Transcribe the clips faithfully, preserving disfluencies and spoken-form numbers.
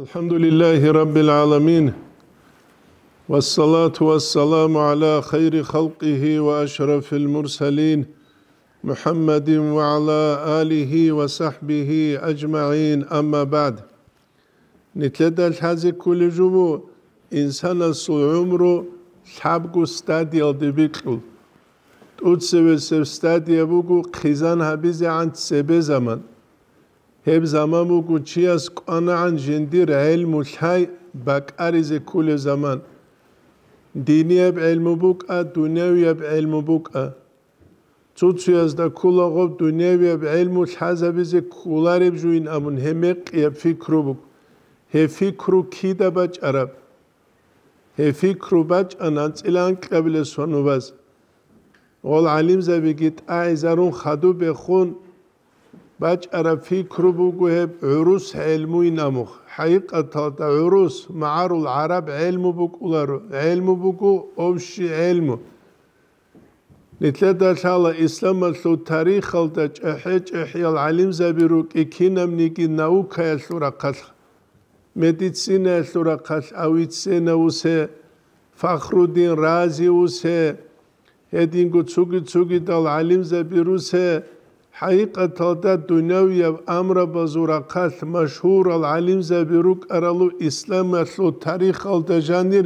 الحمد لله رب العالمين، والصلاة والسلام على خير خلقه وأشرف المرسلين، محمد وعلى آله وصحبه أجمعين، أما بعد. Нилъеда лъазе кколеб жо буго инсанасул гӀумру лъабго стадиялде бикьул. ТӀоцебесеб стадия буго хъизан гьабизегӀан цебе заман. Гьеб заман буго чияс кӀванагӀан жиндир гӀелму лъай бакӀаризе кколеб заман. Динияб гӀелму букӀа, дунявияб гӀелму букӀа. Цо-цоязда ккола гъоб дунявияб гӀелму лъазабизе кколареб жойин абун гьеб мекъияб пикру буго. Гьеб пикру кида бачӀараб? Гьеб пикру бачӀана анцӀила анкьабилеб сонубаз. Гъол гӀалимзабиги тӀагӀизарун хадуб бехун бачӀараб пикру буго гьеб гӀурус гӀелмуйин абун. ХӀакъикъаталда гӀурус магӀарул гӀараб гӀелму букӀуларо, гӀелму буго общий гӀелму. Нилъеда лъала исламалъул тарихалда чӀехӀе-чӀехӀиял гӀалимзаби рукӀи кинабниги наукаялъул рахъалъ, медицинаялъул рахъалъ Авиценна усе, Фахруддин Рази усе, гьединго цоги-цогидал гӀалимзаби русе, хӀакъикъаталда дунявияб амрабазул рахъалъ машгьурал гӀалимзаби рукӀаралу исламалъул тарихалда жанир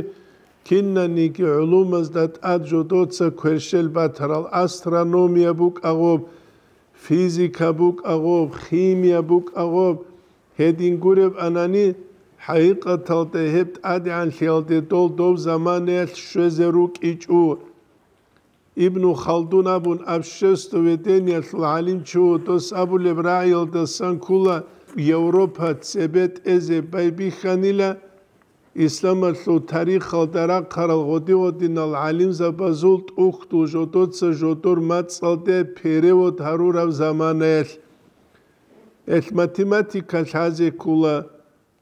кинаниги гӀулумазда тӀад жодоца кверщел батарал астрономия букӀа гъоб, физика букӀа гъоб, химия букӀа гъоб, гьедин гуреб анани, хӀакъикъаталда гьеб тӀадегӀанлъиялде дол дов заманаялъ щвезе рукӀичӀо. Ибну Халдун абун обществоведениялъул гӀалимчи вуго, дос абулеб рагӀиялдасан ккола Европа цебе тӀезе байбихьанила, исламалъул тарихалда рахъарал гъоди-гъодинал гӀалимзабазул тӀухьдул жодоца жодор мацӀалде перевод гьарураб заманаялъ. Элъ математика лъазе ккола.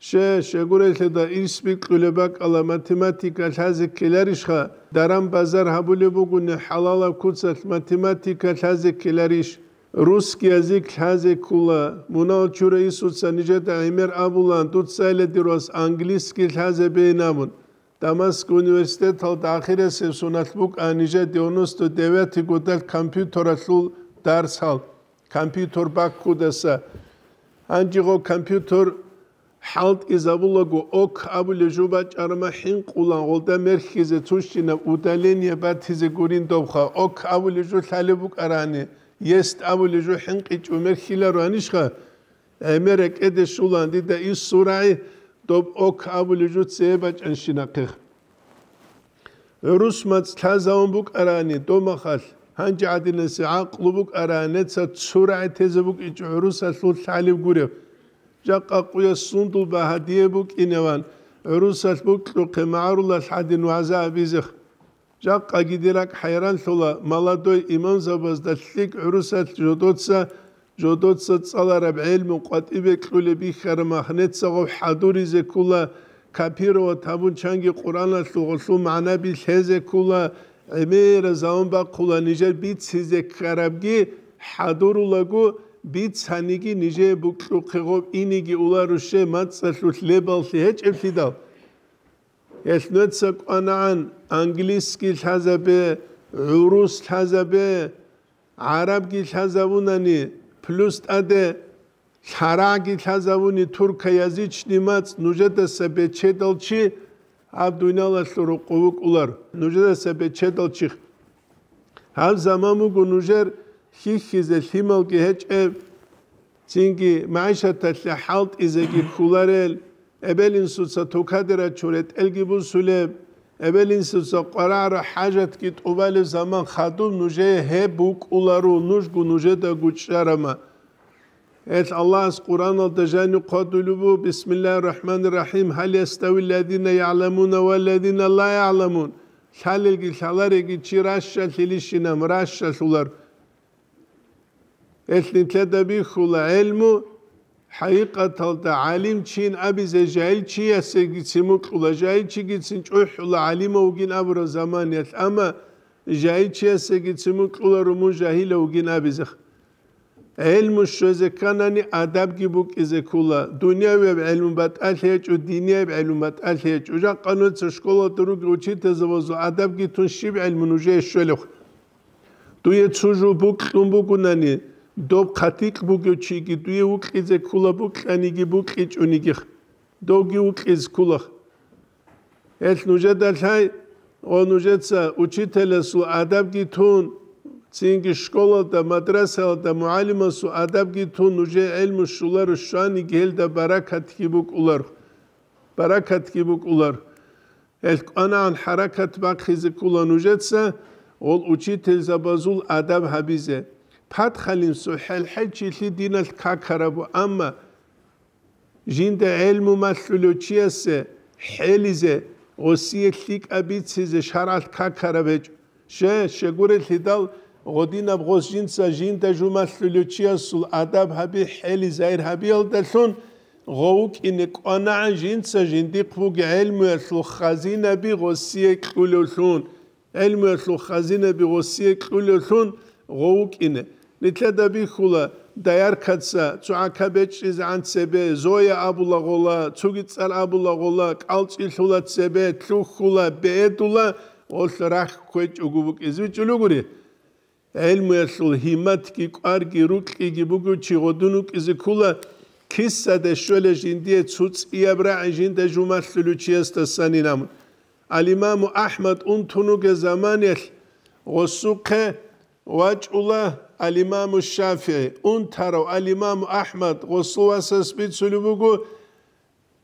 Ще, щегурелъеда ирс бикьулеб бакӀала математика лъазе ккеларищха, даран-базар гьабулеб бугони хӀалалаб куцалъ математика лъазе ккеларищ? Русский язык лъазе ккола. Мунагьал чурай инсуца нижеда гӀемер абулаан, дуцайила дир вас английский лъазе бейин абун. Дамаск университеталда ахирисеб соналъ букӀа нижер девяносто девятый годалъ компьютералъул дарсал, компьютер баккудаса. Гьанжего компьютер хӀалтӀизабулаго ок абулеб жо бачӀарама хӀинкъулан гъолда мерхьизе цущинаб удаление батизе гурин добха. Ок абулеб жо лъалеб букӀарани, есть абулеб жо хӀинкъичӀо мерхьиларо гьанишха? ГӀемер рекӀеде щулаан дида ис сурагӀи, доб ок абулеб жо цее бачӀанщинахъех. ГӀурус мацӀ лъазавун букӀарани домахалъ, гьанже гӀадинасе гӀакълу букӀарани, неца цо рагӀи тезе букӀичӀо гӀурусалъул лъалеб гуреб. Жакъа къуяс сундул багьа дие букӀиневан, гӀурусалъ букьухъе магӀарулалъ гӀадин вагӀза абизех. Жакъаги дир ракӀ хӀайранлъула, молодой имамзабазда лъикӀ гӀурусалъ жодоца, жодоца цӀалараб гӀелму къватӀибе кьулеб бихьараб махнеца гъов хӀадуризе ккула, копировать гьабун чанги Къуръаналъул гъолъул магӀнаби лъезе ккула, гӀемераб заман бахъула нижер бицизе ккарабги хӀадурулаго, бицаниги нижее букьухъе гъоб иниги уларуще мацӀалъулъ лебаллъи гьечӀеблъидал. Гьелъ нуца кӀванагӀан английский лъазабе, гӀурус лъазабе, гӀарабги лъазавунани, плюс тӀаде лъарагӀги лъазавуни туркоязычный мацӀ нужедаса бечедал чи гьаб дуниялалъул рукъу вукӀулар, нужедаса бечедал чи. Гьаб заман буго нужер хьихьизе лъималги гьечӀеб, цинги магӀишаталъе хӀалтӀизеги кколарел, эбел-инсуца тукаде рачун ретӀелги бусулеб, эбел-инсуца къварагӀараб хӀажатги тӀубалеб заман хадуб нужее гьеб букӀуларо, нужго нужеда гучӀарама. Гьелъ Аллагьас Къуръаналда жаниб хъвадулеб буго: «Бисмиллагьир рахӀманир рахӀим. Гьал ястави ллазина ягӀламуна ва ллазина ла ягӀламун?» Лъалелги лъалареги чи ращалъилищинан ращалъулар. Гьелъ нилъеда бихьула гӀелму, хӀакъикъаталда гӀалимчийин абизе жагьилчиясегицин мукьула, жагьилчигицин чӀухӀула гӀалимав вугин абураб заманиялъ, амма жагьилчиясегицин мукьуларо мун жагьилав вугин абизех. ГӀелму щвезе кканани, адабги букӀизе ккула. Дунявияб гӀелму батӀалъи гьечӀо, динияб гӀелму батӀалъи гьечӀо. Жакъа нуца школалда руги учительзабазул адабги тун щиб гӀелму нужее щвелев? Дуе цо жо букьун бугунани, доб хъатикь бугев чиги дуе вукьизе ккула, букьаниги букьичӀониги. Довги вукьиз ккула. Гьелъ нужеда лъай, о, нужеца учителасул адабги тун, цинги школалда, мадрасалда мугӀалимасул адабги тун, нужее гӀелму щуларо щваниги, гьелда баракатги букӀулар. Баракатги букӀулар. Гьелъ кӀванагӀан хӀаракат бахъизе ккула нужеца, гъол учительзабазул адаб гьабизе. Патхалин сухӀел хӀечилъи диналъ какарабу, амма жинда гӀелму малъулев чиясе хӀелизе, гъосие лъикӀаб бицизе шаргӀалъ какараб гьечӀо. Ще, щегурелъидал гъодинаб гъос жинца жинда жу малъулев чиясул адаб гьаби, хӀели-загьир гьабиялдалъун гъов вукӀине кӀванагӀан жинца жиндихъ буги гӀелмуялъул хазинаби гъосие кьулевлъун. ГӀелмуялъул хазинаби гъосие кьулевлъун гъов вукӀине. Нилъеда бихьула, дояркаца цо гӀака бечӀчӀизегӀан цебе, Зоя абула гъола, цуги цӀар абула гъола, кӀалцӀилъула цебе, лъухьула, бегьедула, гъолъ рахь кквечӀого букӀизе бичӀчӀулугури. ГӀелмуялъул гьимматги, кӀварги, рукьиги бугев чи гъодун вукӀизе ккула, кисаде щвела жиндие цо цӀияб рагӀи жинда жу малъулев чиясдасанин абун. Ал-Имаму АхӀмад унтун вугев заманиялъ гъосухъе вачӀула Ал-Имаму ШафигӀи. Унтарав Ал-Имаму АхӀмад гъосул васас бицулеб буго,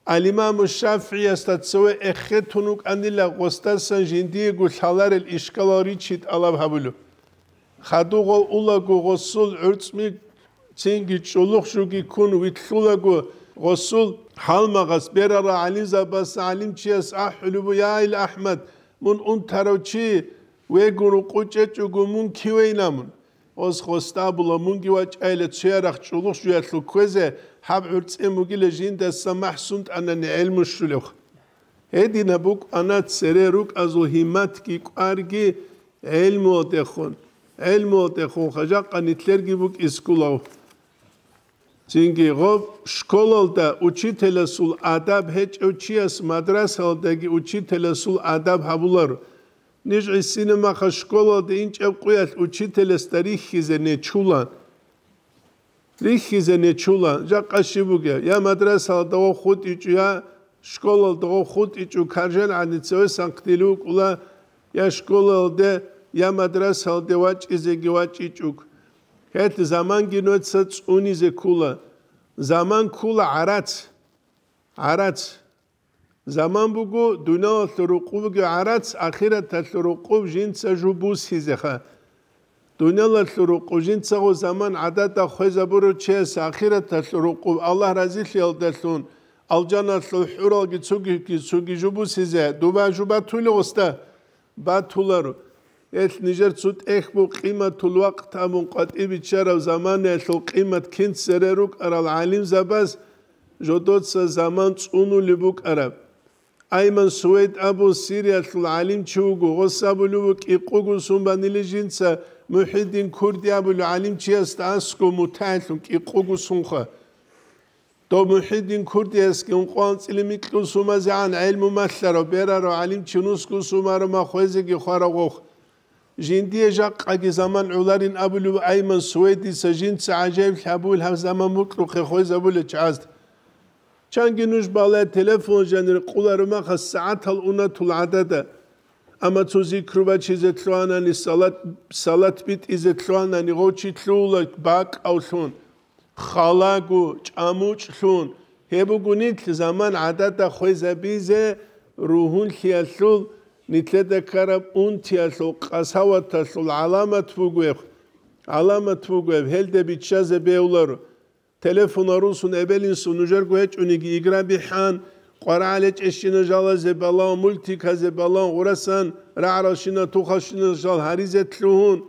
Ал-Имаму ШафигӀиясда цеве эхетун вукӀанила гъосдасан жиндиего лъаларел ишкалал ричи тӀалаб гьабулев. Хадув гъов улаго гъосул гӀурцӀми цинги чӀулухъ жуги ккун витлъулаго гъосул гьалмагъас берарал гӀалимзабаз гӀалимчияс ахӀулеб буго: «Я, ил АхӀмад, мун унтарав чи вегун рукъу чӀечӀого, мун кивейна мун?» Гъос гъосда абула: «Мунги вачӀайила цоярахъ чӀулухъ жуялъул кквезе, гьаб гӀурцӀи мугила жиндаса махӀсунтӀанани гӀелму щулев». Гьединаб букӀана цере рукӀазул гьимматги кӀварги гӀелмуялдехун, гӀелмуялдехун хажакъа нилъерги букӀиз ккулав. Цинги гъоб школалда учителасул адаб гьечӀев чияс мадрасалдаги учителасул адаб гьабуларо. Ниж гӀисинаб маха школалда инчӀеб къуялъ учителасда рихьизе нечула. Рихьизе нечула, жакъа щиб бугеб, я мадрасалда гъов хутӀичӀо, я школалда гъов хутӀичӀо, каржел гӀадин цевесан хъдилев вукӀула, я школалде, я мадрасалде вачӀизеги вачӀичӀо. Гьелъ заманги нуца цӀунизе ккула. Заман ккула гӀарац. ГӀарац. Заман буго, дуниялалъул рукъуб буго гӀарац, ахираталъул рукъуб жинца жу бусизеха. Дуниялалъул рукъуб жинцаго заман гӀадада хвезабурав чияс ахираталъул рукъуб Аллагь разилъиялдалъун, алжаналъул хӀуралги цуги, цуги жу бусизе, дуба жу батулев гъосда? Батуларо. Гьелъ нижер цо тӀехь буго, къиматул вакът абун къватӀиб биччараб заманаялъул къимат кин цере рукӀарал гӀалимзабаз жодоца заман цӀунулеб букӀараб. Айман Сувейд абун Сириялъул гӀалимчи вуго, гъос абулев вуго, кӀикъого сун банили жинца, МухӀиддин Курди абулев гӀалимчиясда аскӀов мутагӀилъун кӀикъого сунха. Дов МухӀиддин Курдиясги ункъо анцӀила микьго сумазегӀан гӀелму малъарав, берарав гӀалимчи нусго сумаро ма хвезеги хварав гъов. Жиндие жакъаги заман гӀоларин абулев Айман Сувейдица жинца гӀажаиблъи гьабуил гьаб заман букьухъе хвезабулел чагӀазда. Чанги нуж балай телефон жанир къуларумаха сагӀатал унатул гӀадада. Амма цо зикру бачизе лъугьанани, салат, салат битӀизе лъугьанани, гъов чи лъугьула бакӀавлъун, халаго, чӀамучӀлъун. Гьеб буго нилъ заман гӀадада хвезабизе ругьунлъиялъул, нилъеда ккараб унтиялъул, къасаваталъул гӀаламат бугеб, гӀаламат бугеб, гьелде биччазе бегьуларо. Телефон русун эбел-инсул нужерго гьечӀониги игра бихӀан, къварагӀалечӀещина жалазе балан, мультиказе балан, гъурасан рагӀралщина тухалщина жал гьаризе лъугьун.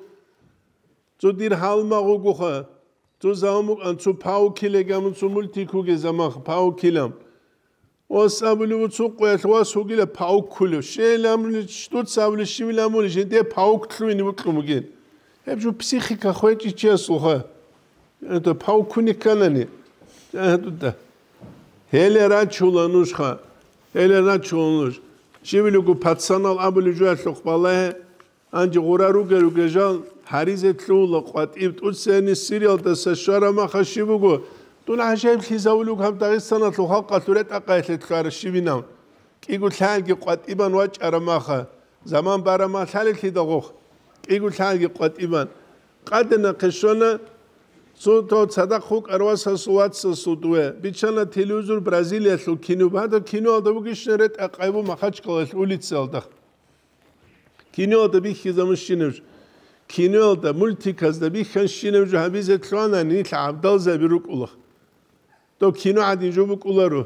Цо дир гьалмагъ вугоха, цо заман букӀан, цо паукиле гамун, цо мультик вугезамаха, паукилам. Ос абулев цо къоялъ вас вугила паук ккулев. Щейламуни, дуца абулев щивиламуни, жинде паук лъугьине букьун бугин. Гьеб жо психика хвечӀичиясулха. Это павкуни кканани. Гьеле рачула нужха. Гьеле рачула нуж. Щивилего пацанал абулеб жуялъухъ балагье. Анжи гъура ругел-ругел жал гьаризе лъугьула къватӀиб тӀуцани Сириялдаса щвараб маха щиб буго? Дун гӀажаиблъизавулев гьаб Дагъистаналъул халкъалъул ретӀа-къайилъе лъугьараб щибинав. КӀиго лъагӀалги къватӀибан вачӀараб маха, заман бараб махалъалилъидал гъохъ, кӀиго лъагӀалги къватӀибан. Къадина хъешона, цо-, цо цадахъ вукӀар васасул вацасул дуе. Биччана телевизор Бразилиялъул кино. Гьадаб киноялда бугищин ретӀа-къайбу Махачкалалъ улицаялда. Киноялда бихьизабун щинаб жо. Киноялда, мультиказда бихьан щинаб жо гьабизе лъугьана, нилъ гӀабдалзаби рукӀула. Дов кино гӀадин жо букӀуларо.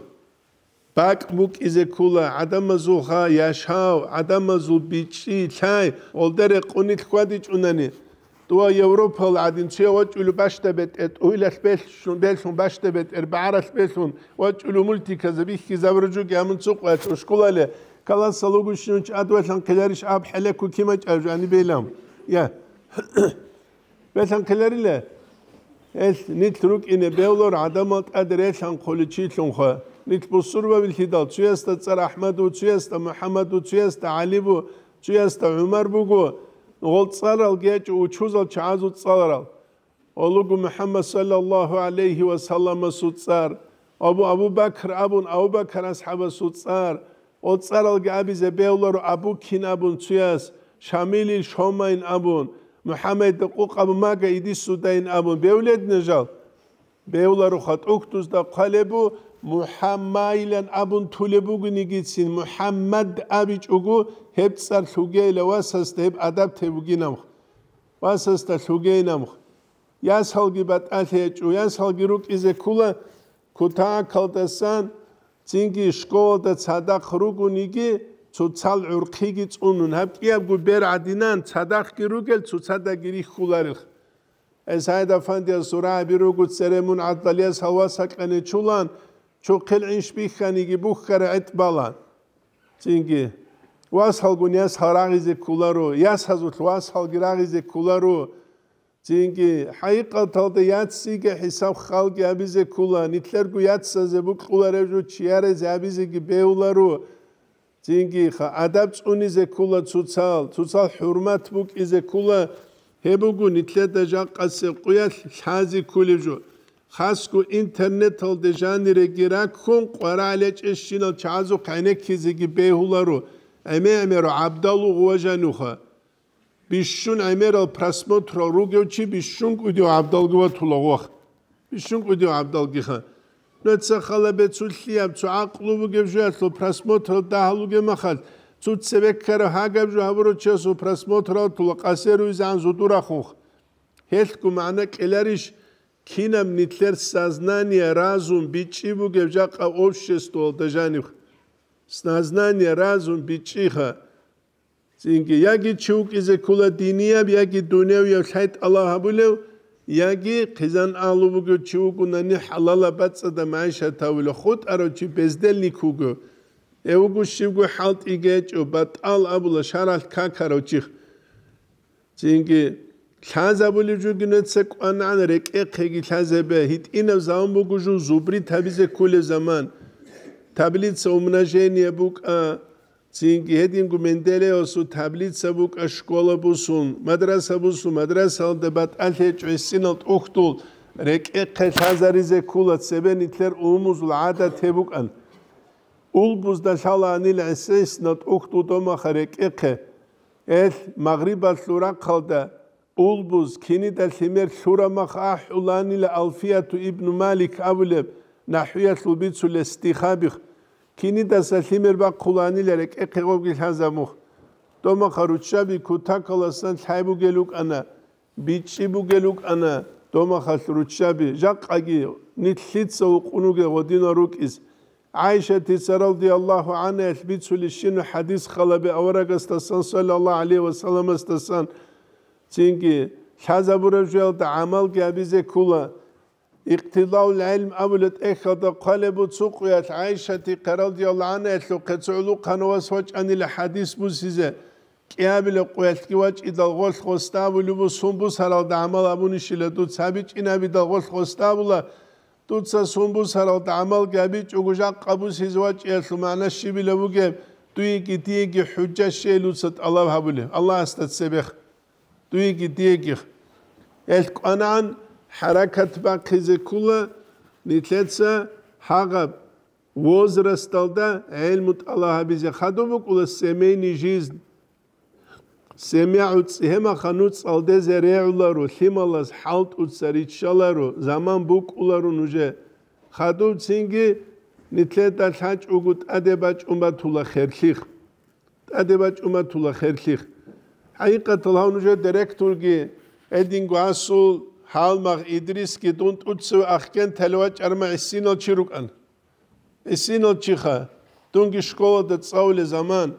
БакӀ букӀизе ккула, гӀадамазулха яшав, гӀадамазул бичӀчӀи лъай, гъолда рекъонилъ хьвадичӀунани. Дова Европал гӀадин цуя вачӀулев бащда бетӀер, тӀугьилалъ белъун, белъун бащда бетӀер, багӀаралъ белъун вачӀулев мультиказа бихьизабураб жоги гьамун цо къоялъ ушкулале, каласал вугущинав чи адвалъан хъиларищ аб хӀелеко кимачӀаб жани белам. Я. Белъан хъиларила. Эл нилъ рукӀине бевлар гӀадамал тӀад релъан хъуличилъунха. Нилъ бусурбабилъидал, цуясда цӀар Ахмад ву, цуясда МухӀаммад ву, цуясда ГӀали ву, цуясда ГӀумар буго, гъол цӀаралги ячӀо учузал чагӀазул цӀаларал. Гъолуго МухӀаммад саллаллагьу гӀалайгьи ва салламасул цӀар, Абу, Абу Бакр абун, Абу Бакр асхӀабасул цӀар, гъол цӀаралги абизе бегьуларо Абу Кин абун цуяс, Шамилил Шомайн абун, МухӀаммадда къукъаб мага идисудайн абун бегьуледна жал? Бегьуларо хатӀухьдузда хъвалебу МухӀаммайлан абун тулеб бугинигицин, МухӀаммад абичӀого гьеб цӀар лъугейила васасда гьеб адаб те бугинамх. Васасда лъугейнамх. Ясалги батӀалъи гьечӀо, ясалги рукӀизе ккула кутакалдасан, цинги школалда цадахъ ругониги, цоцал гӀурхъиги цӀунун. Гьаб кӀиябго бер гӀадинан, цадахъги ругел, цоцадаги рихьуларелха. Эсайда фандиясул рагӀаби руго цере мун гӀадалияс гьавас гьакьаничулан, чухъел гӀинш бихьаниги бухьара гӀетӀ бала. Цинги, васалгун ясал рагъизе кколаро, ясазулъ васалги рагъизе кколаро. Цинги, хӀакъикъаталда яциги хӀисаб-халги гьабизе ккола, нилъерго яцазе букьулареб жо чиярезе гьабизеги бегьуларо. Цинги, ха, адаб цӀунизе ккола цоцал, цоцал хӀурмат букӀизе ккола, гьеб буго нилъеда жакъасеб къуялъ лъази кколеб жо. Хасго интернеталде жаниреги раккун, къварагӀел гьечӀебщинал чагӀазухъ гӀенеккизеги бегьуларо, гӀеме-гӀемерал гӀабдал вуго ва жанивха. Бищун гӀемерал просмотрал ругев чи бищун кӀудияв гӀабдалги ватула вах. Бищун кӀудияв гӀабдалгиха. Нуца хала бецулъияб цо гӀакълу бугеб жоялъул просмотрал дагьал вугеб махал, цо цебеккараб гьагаб жо гьабурав чиясул просмотрал тула къасер руйзегӀан зудурахунх. Гьелъго магӀна кьеларищ, кинаб нилъер сознание, разум бичӀчӀи бугеб жакъа обществоялда жанив? Сознание, разум бичӀчӀиха. Цинги, яги чи вукӀизе ккола динияб, яги дуневияб лъай тӀалаб гьабулев, яги хъизан агьлу бугев чи вугунани хӀалалаб бацӀцӀадаб магӀишат гьавулев, хутӀарав чи бездельник вуго. Гьев вуго щибго хӀалтӀиги гьечӀо, батӀал абула шаргӀалъ какарав чих. Цинги, лъазабулеб жуги нуца кӀванагӀан рекӀехъеги лъазабе, гьитӀинаб заман буго жо зубрит гьабизе кколеб заман. Таблица умножения букӀа, цинги гьединго Менделеевасул таблица букӀа, школа бусун, мадраса бусун, мадрасалда батӀалъи гьечӀо гьесинал тӀухьдул, рекӀехъе лъазаризе ккола, цебе нилъер умумузул гӀадат гьеб букӀан. Улбузда лъалаанила гьесинал тӀухьдул домаха рекӀехъе. Эл, магърибалъул рахъалда, улбуз, кинида лъимер лъурамах ахӀуланила Алфияту ибну Малик абулеб нахӀвиялъул бицулеб стихабихъ, кинидаса лъимер бахъуланила рекӀехъе гъобги лъазабухъ. Домаха руччаби кутакаласан лъай бугел рукӀана, бичӀчӀи бугел рукӀана домахалъ руччаби, жакъаги нилъ лъица вукъун вугел гъодинал рукӀиз. ГӀайшатица радияллагьу гӀанхӀаялъ бицулищина хӀадис халабе аварагасдасан, саллаллагьу гӀалайгьи ва салламасдасан, цинги лъазабураб жоялда гӀамалги гьабизе ккола. Икътидаул гӀилм абулеб тӀехьалда хъвалеб буго цо къуялъ ГӀайшатихъе радияллагьу гӀанхӀаялъухъе цо гӀулухъанав вас вачӀанила хӀадис бусизе. кӀиабилеб къоялъги вачӀидал гъолъ гъосда абулеб буго, сун бусаралда гӀамал абунищила дуца гьабичӀин абидал гъолъ гъосда абула, дуца сун бусаралда гӀамалги гьабичӀого жакъа бусизе вачӀиялъул магӀна щибила бугеб, дуеги диеги хӀужа щейилан дуца тӀалаб гьабулеб Аллагьасда цебех. Дуеги диеги. Гьелъ кӀванагӀан хӀаракат бахъизе ккола нилъеца гьагъаб возрасталда гӀелму тӀалаб гьабизе. Хадуб букӀула семейный жизнь. Семья гӀуцӀи гьемаха нуцӀ цӀалдезе регӀуларо, лъималаз хӀалтӀуца риччаларо, заман букӀуларо нужее. Хадуб цинги нилъеда лъачӀого тӀаде бачӀун батула херлъих. ТӀаде бачӀун батула херлъих. ХӀакъикъатал гьав нужер директорги, гьединго асул Гьалмагъ Идрисги дун тӀуцеве Ахкентале вачӀарма гӀисинал чи рукӀан. ГӀисинал чиха, дунги школада цӀалулел заман.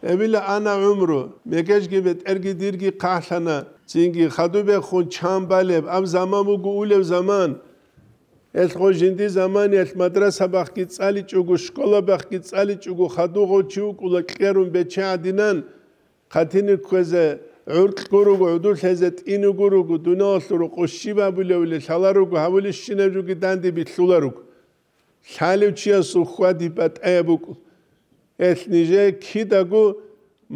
Гьебила ана гӀумру, мегежги бетӀерги дирги хъахӀлъана, цинги хадубехун чан балеб, аб заман буго улеб заман. Гьелъго жинди заманиялъ мадрасабахъги цӀаличӀого, школабахъги цӀаличӀого хадув гъов чи вукӀула кьерун бече гӀадинан, хъатине кквезе гӀуркь гуруго, гӀодулъ гьезе тӀинуго руго, дуниялалъул рокъов щиб абулевали лъаларуго, гьавулищинаб жоги данде билълъуларуго. Лъалев чиясул хьвади батӀаяб букӀу. Гьелъ нижее кидаго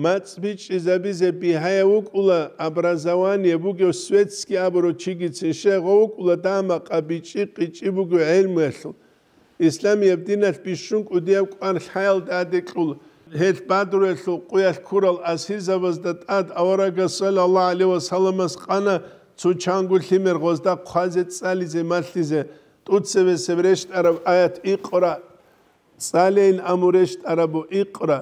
мацӀ бичӀчӀизабизе бигьаяб букӀула образование бугев светский абурав чигицин, щай гъов вукӀула дагьа-макъа бичӀчӀи-къичӀчӀи бугев гӀелмуялъул. Исламияб диналъ бищун кӀудияб кӀвар лъаялда гӀадекьул, гьелъ Бадруялъул къуялъ ккурал асирзабазда тӀад аварагас саллаллагьу гӀалайгьи вассаламас къана цо чанго лъимер гъозда хъвазе цӀализе малъизе, тӀуцебесеб рещтӀараб аят икъра, цӀалейин аму рещтӀарабу икъра.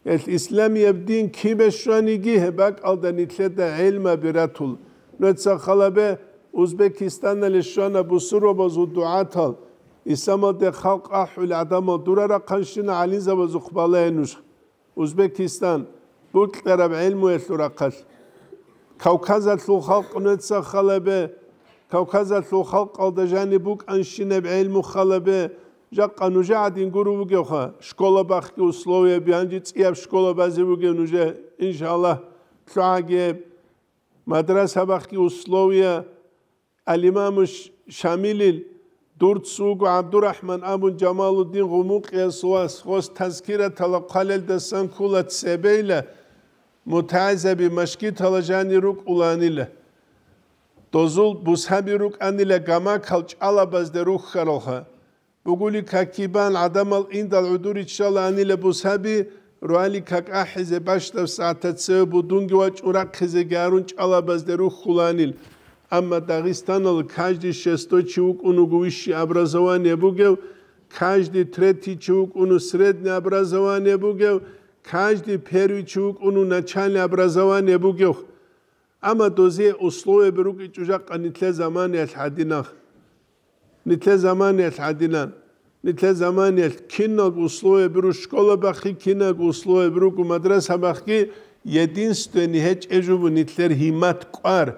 Гьелъ исламияб дин кибе щваниги, гьеб бакӀалда нилъеда гӀелмаби ратул. Нуца халабе Узбекистанале щвана бусурбабазул дугӀатал, исламалде халкъ ахӀулел гӀадамал дура рахъанщина гӀалимзабазухъ балагье нуж. Узбекистан, букьараб гӀелмуялъул рахъалъ. Кавказалъул халкъ нуца халабе, Кавказалъул халкъалда жаниб букӀанщинаб гӀелму халабе, жакъа нужа гӀадин гуро вугевха, школа бахъги условияби, гьанже цӀияб школа базе вугев нужа, иншаллагь, лъугӀаги гьеб. Мадраса бахъги условия, Ал-Имаму Ш-, Шамилил, дур цо вуго ГӀабдурахӀман абун Жамалуддин Гъумукъиясул вас, гъос тазкиратала хъвалелдасан ккола цебейила, мутагӀизаби машгитала жанир рукӀуланила. Дозул бусаби рукӀанила гамакал чӀалабазде рухьаралха. Бугули какибан гӀадамал индал гӀодор риччалаанила бусаби, руали как ахӀизе бащдаб сагӀатда цеве будунги вачӀун рахъизеги гьарун чӀалабазде рухьуланил. Амма Дагъистаналда каждый шестой чи вукӀун вуго высшее образование бугев, каждый третий чи вукӀун среднее образование бугев, каждый первый чи вукӀун начальное образование бугев. Амма дозие условияби рукӀичӀо жакъа нилъер заманиялъ гӀадинан. Нилъер заманиялъ гӀадинан. Нилъер заманиялъ киналго условияби руго школа бахъи, киналго условияби руго мадраса бахъи, единственный гьечӀеб жо буго нилъер гьиммат кӀвар,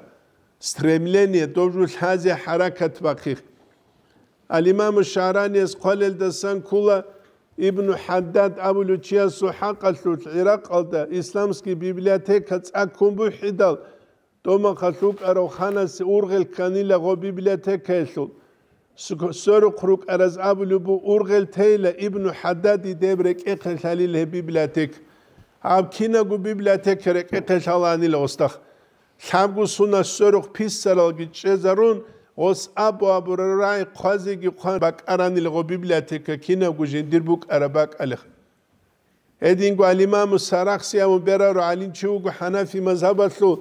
стремление, доб жо лъазе хӀаракат бахъи. Ал-Имаму ШагӀраниялъ хъвалелдасан ккола, Ибну ХӀаддад абулев чиясул хӀакъалъулъ ГӀиракъалда исламский библиотека цӀаккун бухӀидал, тӀомахъалъ вукӀарав ханасе ургъел кканила гъо библиотекаялъул. Ск-, сверухъ рукӀараз абулеб буго, ургъел тейила Ибну ХӀаддади деб рекӀехъе лъалил гьеб библиотека. Гьаб кинабго библиотека рекӀехъе лъалаанила гъосда. Лъабго сунал сверухъ писаралги чӀезарун, гъос абу-абурал рагӀи хъвазеги хъван бакӀаранила гъо библиотека кинабго жиндир букӀараб бакӀалихъ. Гьединго ал-Имаму Сарахси абун берарав гӀалимчи вуго хӀанафи мазгьабалъул,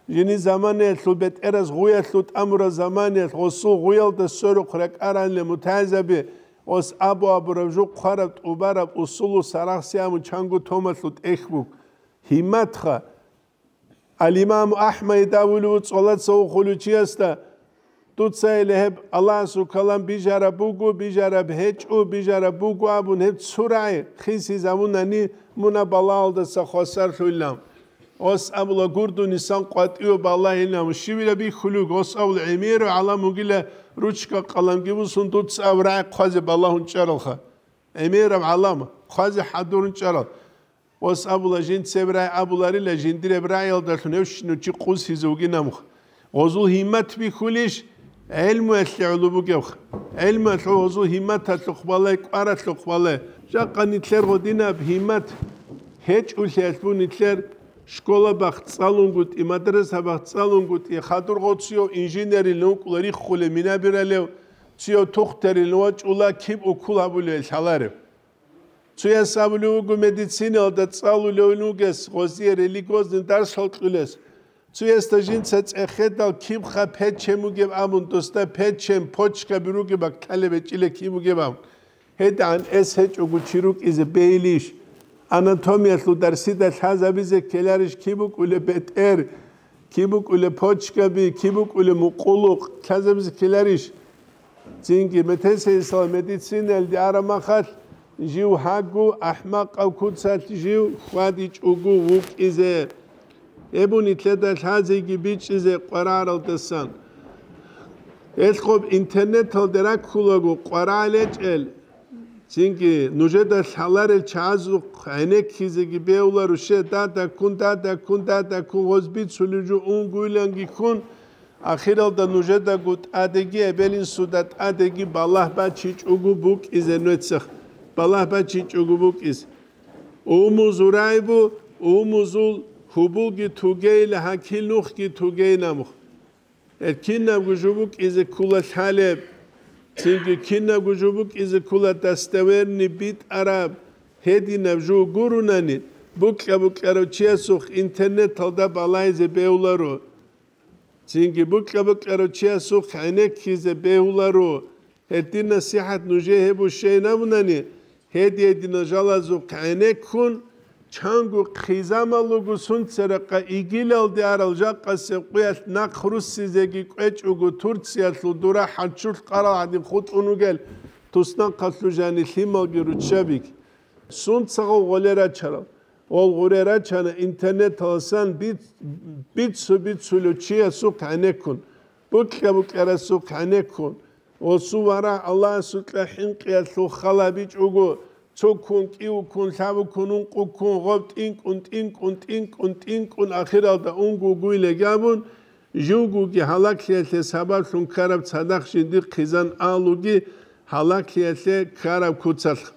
жини заманаялъул бетӀераз гъуялъул тӀамураб заманаялъ гъосул гъуялда сверухъ ракӀаранила мутагӀизаби, гъос абу-абураб жо хъвараб тӀубараб усулу Сарахси абун чанго томалъул тӀехь буго. Гьимматха! Ал-Имаму АхӀмад абулев цӀолаца вухулев чиясда, дуца гьеле гьеб Аллагьасул калам бижараб буго, бижараб гьечӀо, бижараб буго абун гьеб цо рагӀи хисизабунани, мун гьаб балагьалдаса хвасарлъуйилан. Гъос абула, гурдунисан къватӀиве балагьилан, щивила бихьулев, гъос абула, гӀемерав гӀалам вугила, ручка-къаламги бусун, дуца аб рагӀи хъвазе балагьун чӀаралха. ГӀемераб гӀалам, хъвазе хӀадурун чӀарал. Гъос абула, жинцеб рагӀи абуларила, жиндиреб рагӀиялдалъун гьев щинав чи къусизе вугин абун. Гъозул гьиммат бихьулищ? ГӀелмуялъе гӀоло бугебха. ГӀелмуялъул гъозул гьимматалъухъ балай, кӀваралъухъ балай. Жакъа нилъер гъодинаб гьиммат гьечӀулъиялъ бу нилъер школа бахъ цӀалунгутӀи, мадраса бахъ цӀалунгутӀи, хадур гъо цуяв инженерилан вукӀула риххулев, минабиралев, цуяв тухтарилан вачӀула, киб уккул гьабулев лъаларев. Цуяс абулев вуго, медицинаялда цӀалулев вугес, гъозие религиозный дарсал кьулес. Цуясда жинца цӀехедал кибха печен бугеб абун, досда печен, почкаби ругеб бакӀ лъалеб гьечӀила киб бугеб абун. ГьедигӀан эс гьечӀого чи рукӀизе бейилищ? Анатомиялъул дарсида лъазабизе ккеларищ киб букӀулеб бетӀер, киб букӀулеб почкаби, киб букӀулеб мукъулукъ лъазабизе ккеларищ? Цинги метесейсала медицинаялде араб махалъ, жив гьагу ахӀмакъав куцалъ жив хьвадичӀого вукӀизе. Гьеб бу нилъеда лъазеги бичӀчӀизе къвараралдасан. Гьелъ гъоб интернеталде раккулаго къварагӀел гьечӀел, цинги нужеда лъаларел чагӀазухъ гӀенеккизеги бегьуларо, ще дадаккун, дадаккун, дадаккун, гъоз бицулев жо унгуйланги ккун, ахиралда нужедаго тӀадеги, эбел-инсуда тӀадеги балагь бачичӀого букӀизе нуецех, балагь бачичӀого букӀизе. Умузул рагӀи бу, умузул гьубулги тугейила, гьакил нухги тугейин абун. Гьел кинабго жо букӀизе ккула лъалеб, цинги кинабго жо букӀизе ккула достоверный битӀараб, гьединаб жо гурунани, букьа-букьарав чиясухъ интернеталда балайзе бегьуларо. Цинги букьа-букьарав чиясухъ гӀенеккизе бегьуларо. Гьедин насихӀат нужее гьеб бушейин абунани, гьедин-гьединал жалазухъ гӀенеккун, чанго хъизамал руго сунцерахъа игилалде арал жакъасеб къуялъ нахъ руссизеги кӀвечӀого, Турциялъул дура хӀанчулъ къарал гӀадин хутӀун вугел туснахъалъул жани лъималги руччабиги. Сунцагъав гъоле рачарал? Гъол гъуре рачана интернеталасан биц-, бицу-бицулев чиясухъ гӀенеккун, букьа-букьарасухъ гӀенеккун, гъосул варагь Аллагьасукьа хӀинкъиялъул хал гьабичӀого, цо ккун, кӀиго ккун, лъабго ккун, ункъо ккун, гъоб тӀинкӀун, тӀинкӀун, тӀинкӀун, тӀинкӀун, ахиралда унго гуйлеги абун, живгоги гьалаклъиялъе сабаблъун ккараб цадахъ жиндихъ хъизан алуги гьалаклъиялъе ккараб куцалъ.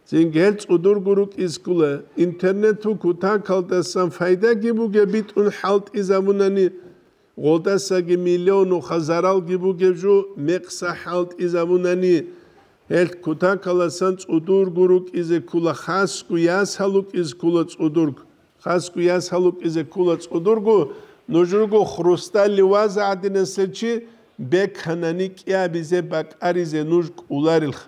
Цинги гьел цӀудурго рукӀизе ккула, интернетул кутакалдасан пайдаги бугеб битӀун хӀалтӀизабунани, гъолдасаги миллионуха заралги бугеб жо мекъса хӀалтӀизабунани, гьел кутакаласан цӀудурго рукӀизе ккула, хасго ясал рукӀизе ккула цӀудурго, хасго ясал рукӀизе ккула цӀудурго, нуж руго хрусталли ваза гӀадинасел чи, беканани кӀиабизе, бакӀаризе нуж кӀоларилха.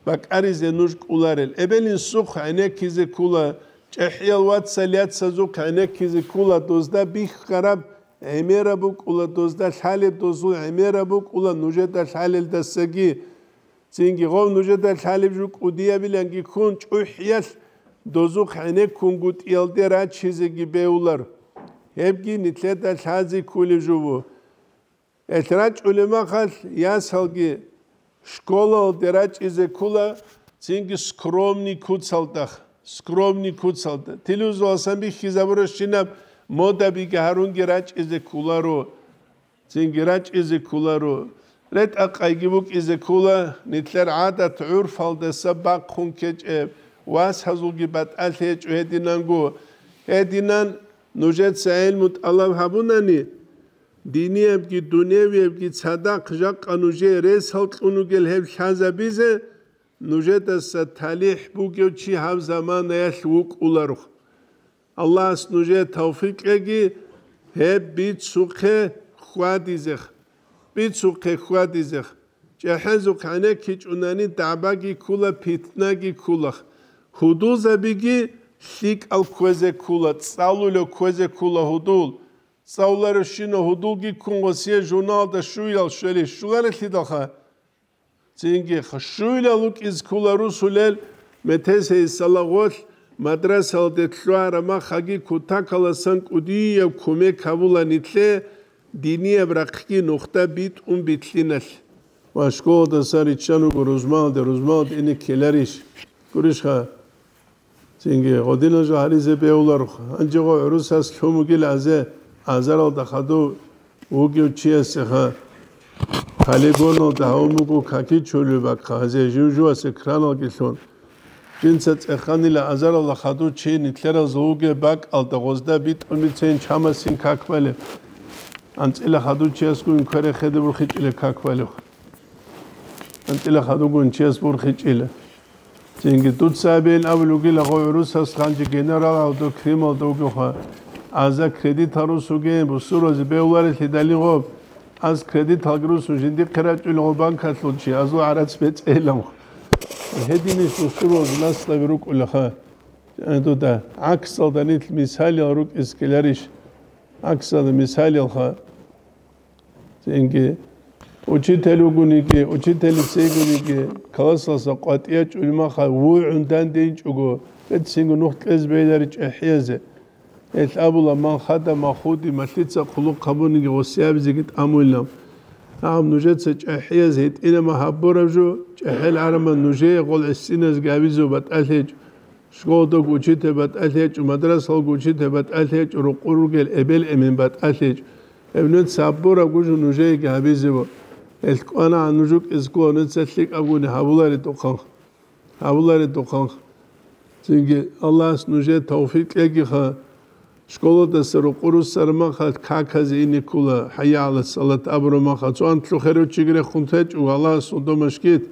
БакӀаризе нуж кӀоларел. Эбел-инсухъ гӀенеккизе ккула, чӀехӀиял вацал-яцазухъ гӀенеккизе ккула, дозда бихьараб гӀемераб букӀула, дозда лъалеб дозул гӀемераб букӀула нужеда лъалелдасаги. Цинги гъов нужеда лъалеб жо кӀудиябиланги ккун, чӀухӀиялъ дозухъ гӀенеккунгутӀиялде рачизеги бегьулар. Гьебги нилъеда лъазе кколеб жо бу. Гьелъ рачӀулеб махалъ ясалги школалде рачӀизе ккула, цинги скромный куцалда, скромный куцалда. Телевизоралсан бихьизабурабщинаб модабиги гьарунги рачӀизе кколаро, цинги рачӀизе кколаро. РетӀа-къайги букӀизе ккола, нилъер гӀадат-гӀурфалдаса бахъун ккечӀеб, васазулги батӀалъи гьечӀо гьединанго. Гьединан нужеца гӀелму тӀалаб гьабунани, диниябги дуневиябги цадахъ жакъа нужее ресал кьун ругел гьеб лъазабизе, нужедаса талихӀ бугев чи гьаб заманаялъ вукӀуларухъ. Аллагьас нужее тавфикъ кьеги, гьеб бицухъе хьвадизех, бицухъе хьвадизех. ЧӀехӀезухъ гӀенеккичӀунани дагӀбаги ккула, питнаги ккула. Гьудулзабиги лъикӀал кквезе ккула, цӀалулев кквезе ккула гьудул. ЦӀалуларевщинав гьудулги ккун гъосие журналда щуял щвели щуларелъидалха. Цинги щуял вукӀизе ккула русулел, метесейсала гъолъ мадрасалде лъугьараб махаги кутакаласан кӀудияб кумек гьабула нилъе динияб рахъги нухда битӀун битлъиналъ. Ва школадасан риччан руго рузмалде, рузмалде ине ккеларищ? Гурищха? Цинги гъодинал жо гьаризе бегьуларухъ. Гьанже гъо гӀурусас лъун бугила азе, азаралда хадув вугев чиясеха, полигоналда гьавун буго какичулев бакха, азе жив-жувас экраналги лъун. Жинца цӀеханила азаралда хадув чи нилъеразул вугеб бакӀалда гъозда битӀун бицейин чамасин как балеб. АнцӀила хадув чиясгун квере хеде бурхичӀила как балев. АнцӀила хадув гун чияс бурхичӀила. Цинги дуца абейин абулев вугила гъо гӀурусас гъанже генерал гьавдо Крымалда вугевха. Аза кредитал русугейин, бусуразе бегьуларелъидалин гъоб. Аз кредиталги русун жиндихъе рачӀулел гъо банкалъул чи, азул гӀарац бецӀейилан. Гьединищ бусуразе наслаби рукӀулаха. Дуда гӀаксалда нилъ мисалиял рукӀиз ккеларищ? ГӀаксалда мисалиялха. Цинги учитель вугониги, учитель цейгониги, классалса къватӀия чӀулмаха вугӀун дандейинчӀого, бецинго нух кьез бегьилари чӀехӀиязе. Гьелъ абула, ман хада махуди малъица хъулухъ гьабуниги гъосиябизеги тӀамуйилан. Гьаб нужеца чӀехӀияз гьитӀинама гьабураб жо, чӀехӀел гӀараман нужее гъол гӀисиназги гьабизев батӀалъ гьечӀо. Школалдаго учитель батӀалъ гьечӀо, мадрасалго учитель батӀалъ гьечӀо, рукъу ругел эбел-эмен батӀалъ гьечӀо. Гьеб нуц гьабураб гужу нужееги гьабизего. Гьелъ кӀванагӀан нуж рукӀизго нуца лъикӀабгуни гьабуларедухъанха. Гьабуларедухъанха. Цинги Аллагьас нужее тавфикъ кьегиха. Школадаса рукъу руссараб махалъ каказе ине ккула, хӀайя гӀала салат абураб махалъ. Цо анлъго херав чиги рехун течӀо, Аллагьас содомашгит.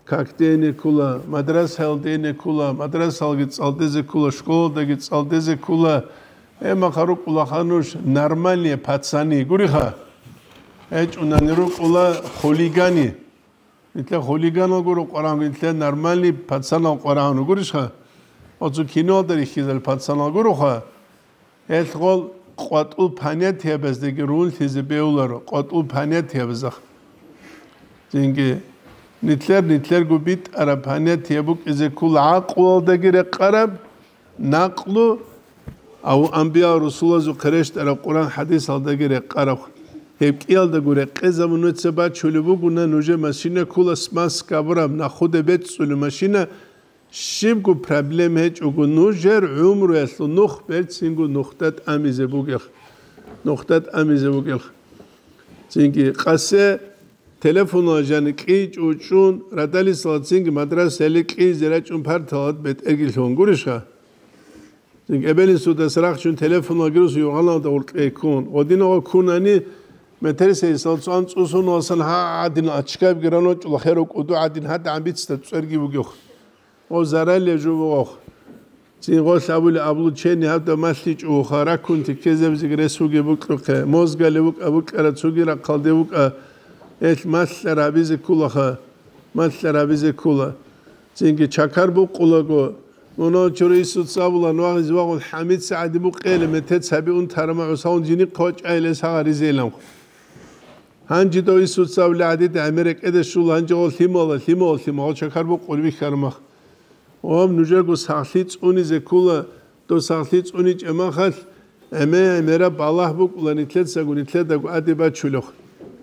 Как дене ккула, мадрасаялде ине ккула, мадрасалги цӀалдезе ккула, школалдаги цӀалдезе ккула. Гьеб махъа рукӀулаха нуж нормальные пацаны, гуриха? ГьечӀунани рукӀула хулигани. Нилъер хулиганал гуро къварагьун, нилъер нормальный пацанал къварагьун, гурищха? Оцу киноялда рихьизал пацанал гуроха? Гьелъ гъол къватӀул понятиябаздаги рунлъизе бегьуларо, къватӀул понятиябазда. Цинги нилъер-нилъерго битӀараб понятие букӀизе ккула гӀакълуялдаги рекъараб, накълу, ав-, анбиял-русулазухъе рещтӀараб Къуран-хӀадисалдаги рекъараб. Гьеб кӀиялдаго рекъезабун нуца бачулеб бугуна, нужер машина ккула смазка абураб, нахуде бецӀцӀулеб машина, щибго проблем гьечӀого, нужер гӀумруялъул нух берцинго нухда тӀамизе бугелъ, нухда тӀамизе бугелъ. Цинги къасе телефонал жани кьи чӀучӀун, радалисала цинги мадрасаялде кьизе рачӀун парталат бетӀерги лъун гурищха? Цинги эбелин судас рахчун телефонал гирус югъаналда гъуркье ккун. Гъодинагъа ккунани, метерсейсал цӀан цӀусун васан гьа гӀадин ачкабги раночӀула херу кӀуду гӀадин гьадагӀан бицда цӀерги бугевх. О, заралле жо бугъохъ. Цин гъолъ абули облучение гьабда малъичӀо вуха, раккунти ккезабизеги рес вугеб букьухъе, мозгали вукӀа, букӀара цуги рахъалде вукӀа, гьелъ малъара гьабизе ккулаха, малъара гьабизе ккула. Цинги чакар букъулаго, мунагьал чури Исуца абула, нугӀизе вагъун хӀамица гӀади букъейилан метец гьаби унтарама гӀусаун жиникъ вачӀайилес гьагъаризейиланхъ. Гьанжидав Исуца абули гӀадид гӀемер рекӀеде щула, гьанже гъол лъимала, лъимала, лъимала чакар букъули бихьармах. Гъоб нужерго сахлъи цӀунизе ккула, дов сахлъи цӀуничӀеб махалъ, гӀеме-гӀемераб балагь букӀула нилъецаго нилъедаго адеб бачулехъ.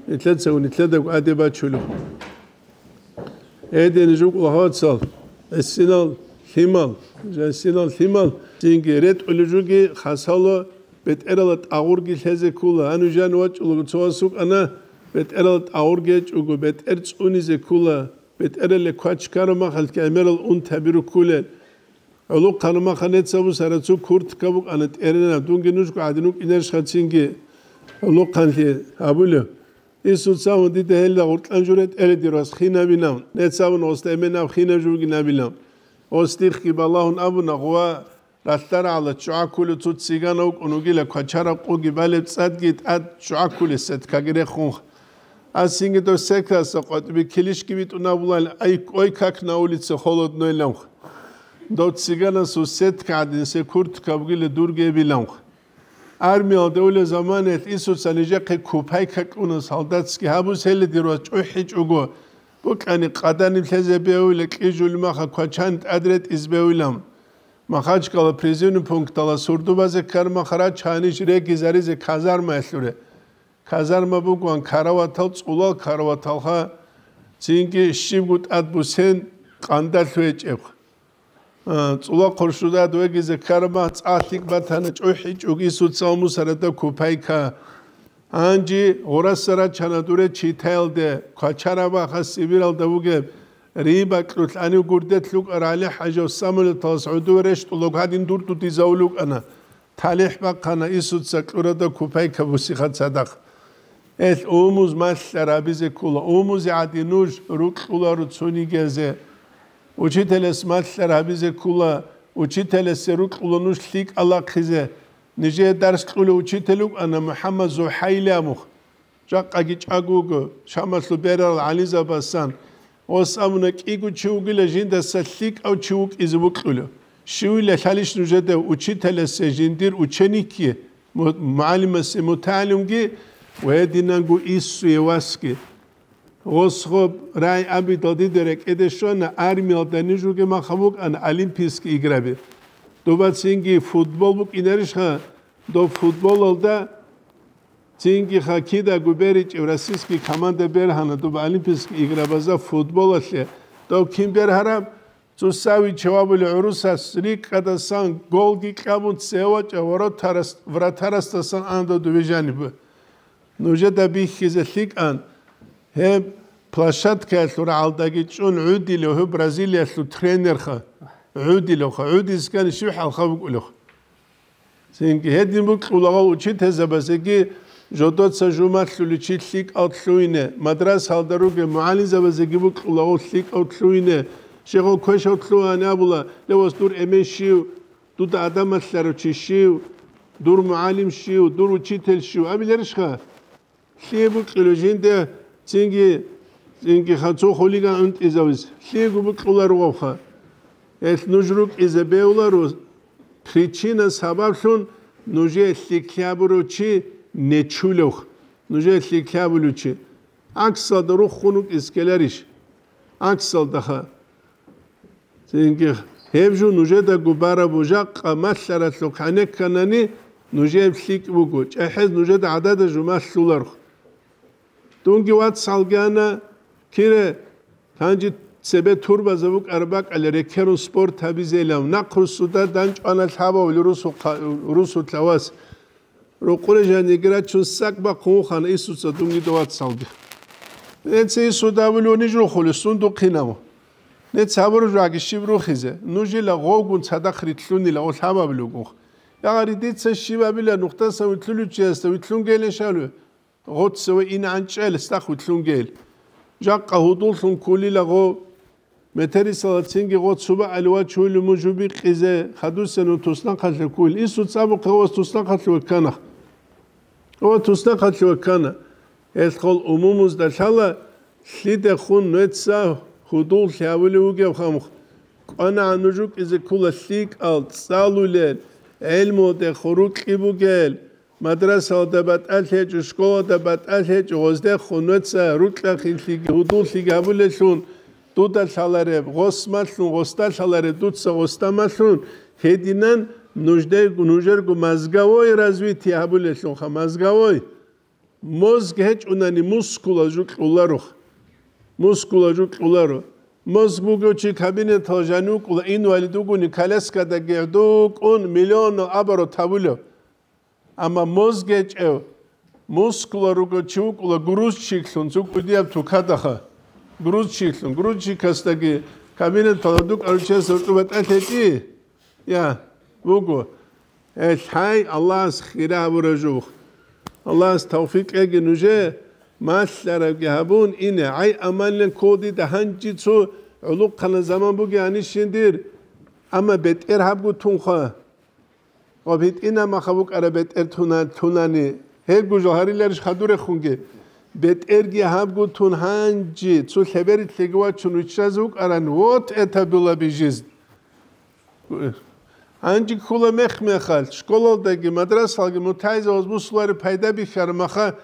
Нилъецаго нилъедаго адеб бачулехъ. Гьедин жукъла гьоцал, гӀисинал лъимал, гӀисинал лъимал, цинги ретӀули жуги хасало, бетӀерала тӀагъурги лъезе ккула. Гьанив жан вачӀулаго цо вас вукӀана, бетӀерала тӀагъурги гьечӀого, бетӀер цӀунизе ккула, бетӀерале квачкараб махалъги гӀемерал унтаби руккулел. ГӀолохъанаб маха нецаб бусара цо куртка букӀана тӀеренаб, дунги нужго гӀадин вукӀинарищха цинги гӀолохъанлъи гьабулев? Исуца дида гьелда гъуркьан журе тӀере дир вас хинабилан, нецабун гъосда эменаб хинаб жугинабилан. Гъос дихъги балагьун абуна, гъува ралъдара гӀала ччугӀа ккулев цо цигана вукӀун вугила, квачараб къуги балеб цӀадги тӀад ччугӀа ккулес сеткаги рехунха. Ас цинги дов сеткаса къватӀиби килищги битӀун абулан, ай, ой, как на улице холодно иланха. Дов циганасул сетка гӀадинсе куртка бугила дурги эбиланха. Армиялда улеб заманаялъ Исуца нижехъе купайка кьуна солдатский гьабуз гьеле дир вас чӀухӀичӀого, букӀани къаданиб лъезе бегьуйла кьижулмаха квачан тӀад ретӀиз бегьуйлан. Махачкала призывный пункталас гьурдубазе ккармахара чанищ регизаризе казармаялъуре. Казарма бугоан караватал, цӀулал караваталха, цинги щибго тӀад бусен къандалъ гьечӀеб. А, цӀула хъуршудад вегизе ккараб мах цӀа лъикӀ батана, чӀухӀичӀого Исуца Мусарада купайка. Гьанже гъураса рачана дуре читаялде, квачарабаха Сибиралда вугеб, рибакьулъ гьанив гурде лъукӀарал ГӀали-хӀажав самолеталас гӀодове рещтӀулев гьадин дурдудизавулев вукӀана. ТалихӀ бахъана Исуца кьурада купайка бусиха цадахъ. Эл умуз малъар гьабизе ккола, умузе гӀадин нуж рукьуларо цонигиязе. Учителас малъар гьабизе ккола, учителасе рукьула нуж лъикӀал ахъизе. Нижее дарс кьулев учитель вукӀана МухӀаммад Зухайли абухъ. Жакъаги чӀаго вуго, Шамалъул берал гӀалимзабасан. Гъос абуна, кӀиго чи вугила жиндаса лъикӀав чи вукӀизе вукьулев. Щивила лъалищ нужеда учителасе жиндир ученикги, му-, мугӀалимасе мутагӀалимги ва гьединанго Исуе васги. Гъос гъоб рай абидал дида рекӀеде щвана, армиялда ниж ругеб махаб букӀана Олимпийский играби. Доба цинги футбол букӀинарищха, доб футболалда цинги хоккейдаго беричӀев российский команда бергьана доб Олимпийский играбазда футболалъе. Доб кин бергьараб? Цо Савичев абулев гӀурусас рикӀкӀадасан голги кьабун цевачӀа воротарас-, вратарасдасан анда дове жаниб. Нужеда бихьизе лъикӀан, гьеб площадкаялъул рагӀалдаги чӀун гӀудилев гьев Бразилиялъул тренерха. ГӀудилевха, гӀудискани щив хӀалха букӀулевха. Цинги гьедин букьулагъал учительзабазеги жодоца жумалъуличи лъикӀал лъугьине, мадрасалда ругел мугӀалимзабазеги букьулагъал лъикӀал лъугьине, щегъал квешав лъугьани абула, ле, вас дур эмен щив, дуда гӀадамалъарав чи щив, дур мугӀалим щив, дур учитель щив, абиларищха? Лъие букьулев жинде цинги, цинги ханцо хулиган унтӀизавиз? Лъиего букьуларо вавха. Гьелъ нуж рукӀизе бевларо, причина сабаблъун нужее лъикӀлъи абурав чи нечулев, нужее лъикӀлъи абулев чи. ГӀаксалда руххун вукӀиз ккеларищ? ГӀаксалдаха. Цинги гьеб жо нужедаго бараб бужахъа малъаралъухъ гьанекканани, нужеб лъикӀ буго, чӀахӀез нужеда гӀадада жумалъуларх. Дунги вацалги ана, кире, гьанже цебе турбазаб букӀараб бакӀале рекерун спорт гьабизелав, нахъ русуда данчӀвана лъабавли русухъа-, русулъа вас. Рукъуре жаниги рачун сак бахъун вухана Исуца дунги довацалги. Неци Ису давулев ниж рухули сундухъинав. Нец гьабуружаги щиб рухизе, нужила гъовгун цадахъ ритлъунила о лъабабилугух. Ягъари дица щибабила нухдасан витлъулев чиясда витлъун гелешалу? Гъоццаве инегӀанчӀел стахъ витлъун гел. Жакъа гьудуллъун ккулила гъо. Метерисала цинги гъо цуба аливачули мужу бикъизе хадусену туснахъалъе ккули. Исуц абухъе ва туснахъалъе ваккана. Ва туснахъалъе ваккана. Гьелъ хол умумузда лъала, лъидехун нуца гьудуллъи гьавулев вугев хамх. КӀванагӀан нуж рукӀизе ккула лъикӀал, цӀалулел, гӀелмуде хурукьи бугел, мадрасалда батӀалъ гьечӀо, школада батӀалъ гьечӀо, гъоздехун нуца рукьахъинлъиги гьудуллъиги гьабулелъун, дуда лъалареб, гъос малъун гъосда лъалареб, дуца гъосда малъун, гьединан нуждей-, нужерго мозговой развитие гьабулелъунха, мозговой. Мозг гьечӀунани мускулал жо кьуларо. Мускулал жо кьуларо. Мозг бугев чи кабинеталда жанив вукӀула, инвалид вугони, коляскадаги гӀодов вукӀун миллионал оборот гьабулев. Амма мозг гьечӀев, мускулал ругев чи вукӀула грузчиклъун, цо кӀудияб тукадаха. Грузчиклъун, грузчикасдаги кабинеталда дукӀаручиясда гьоркьоб батӀалъ гьечӀищ? Я, буго. Гьелъ гьай, Аллагьас хира гьабураб жо. Аллагьас тавфикъ кьеги нужее, малъарабги гьабун ине. ГӀай, амалин ккола дида гьанже цо гӀолохъанаб заман бугеанищин дир, амма бетӀер гьабго тунха. Ва битӀина маха букӀараб бетӀер туна-, тунани. Гьебго жо гьариларищ хадурехунги? БетӀерги гьабго тун гьанже цо лъеберилъеги вачун виччазе вукӀаран, вот это была бы жизнь. Гьанже ккола мех-мехалъ, школалдаги, мадрасалги мутагӀилзабаз бусулари пайда бихьараб маха,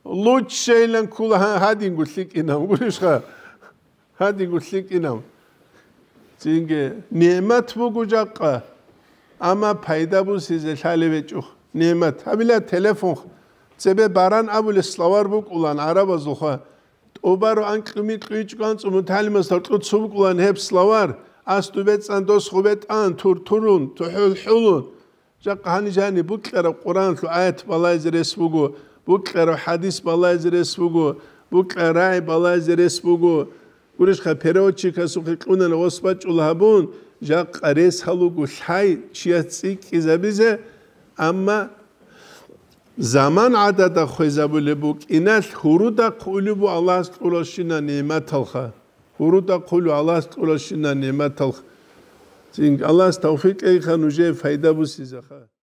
лучшайилан ккола гьа-, гьадинго лъикӀинав, гурищха? Гьадинго лъикӀинав. Цинги, нигӀмат буго жакъа, амма пайда бусизе лъалеб гьечӀо. НигӀмат. Гьабила телефон, цебе баран абулеб словарь букӀулан гӀарабазулха. ТӀубару анкьу-микьу ичӀго анцӀу мутагӀалимас гьоркьоб цо букӀулан гьеб словарь, Асду бецӀан дос гъубетӀан, тур-турун, тухӀул-хӀулун. Жакъа гьанижани букьараб Къуръаналъул аят балайзе рес буго, букьараб хӀадис балайзе рес буго, букьараб рагӀи балайзе рес буго. Гурищха, переводчикасухъе кьунана гъос бачӀул гьабун, жакъа рес гьалуго лъай чияс цӀикӀкӀизабизе, амма заман гӀадада хвезабулеб букӀиналъ гьуруда хъулеб бу Аллагьас кьуралщина нигӀматалха. Гьуруда хъулу Аллагьас кьуралщина нигӀматалха. Цин Аллагьас тавфикъ кьейха нужее пайда бусизаха.